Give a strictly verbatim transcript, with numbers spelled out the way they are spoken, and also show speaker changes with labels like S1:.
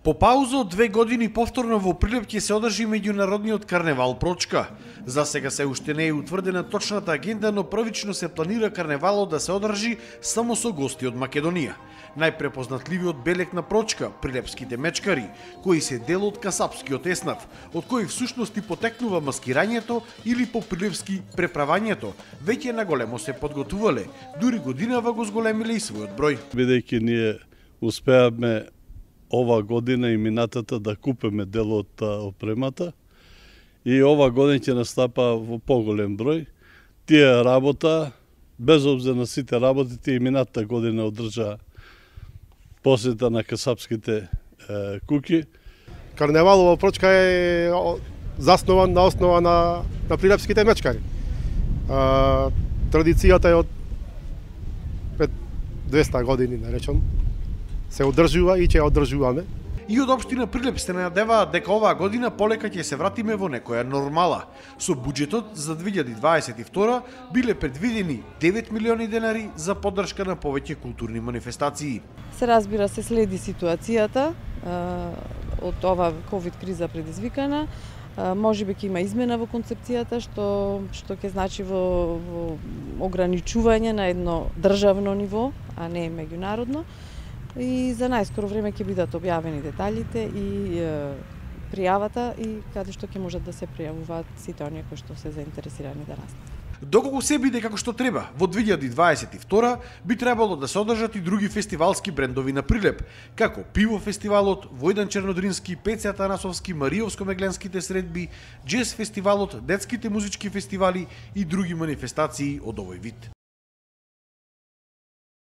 S1: По пауза од две години повторно во Прилеп ќе се одржи меѓународниот карневал Прочка. За сега се уште не е утврдена точната агенда, но првично се планира карневалот да се одржи само со гости од Македонија. Најпрепознатливиот белег на Прочка, прилепските мечкари, кои се дел од касапскиот еснав, од кој всушност и потекнува маскирањето или по прилепски преправањето, веќе наголемо се подготувале, дури годинава го зголемиле и својот број.
S2: Бидејќи ние успеавме ова година и минатата да купиме дел од опремата и ова година ќе настапа во поголем број. Тие работа, без обзир на сите работи, тие и минатата година одржа посета на касапските е, куки.
S3: Карневалот во Прочка е заснован на основа на, на прилепските мечкари. А, традицијата е од пред двеста години, да речам, се одржува и ќе ја одржуваме.
S1: И од општина Прилеп се надеваат дека оваа година полека ќе се вратиме во некоја нормала. Со буџетот за две илјади дваесет и втора биле предвидени девет милиони денари за поддршка на повеќе културни манифестации.
S4: Се разбира се следи ситуацијата од ова ковид криза предизвикана. Може би ќе има измена во концепцијата што што ќе значи во, во ограничување на едно државно ниво, а не меѓународно. И за најскоро време ќе бидат објавени деталите и е, пријавата и каде што ќе можат да се пријавуваат сите оние кои што се заинтересирани да настанат.
S1: Доколку се биде како што треба, во две илјади дваесет и втора би требало да се одржат и други фестивалски брендови на Прилеп, како Пиво фестивалот, Војдан Чернодрински, Пеце Атанасовски, Мариовско-мегленските средби, Джез фестивалот, детските музички фестивали и други манифестации од овој вид.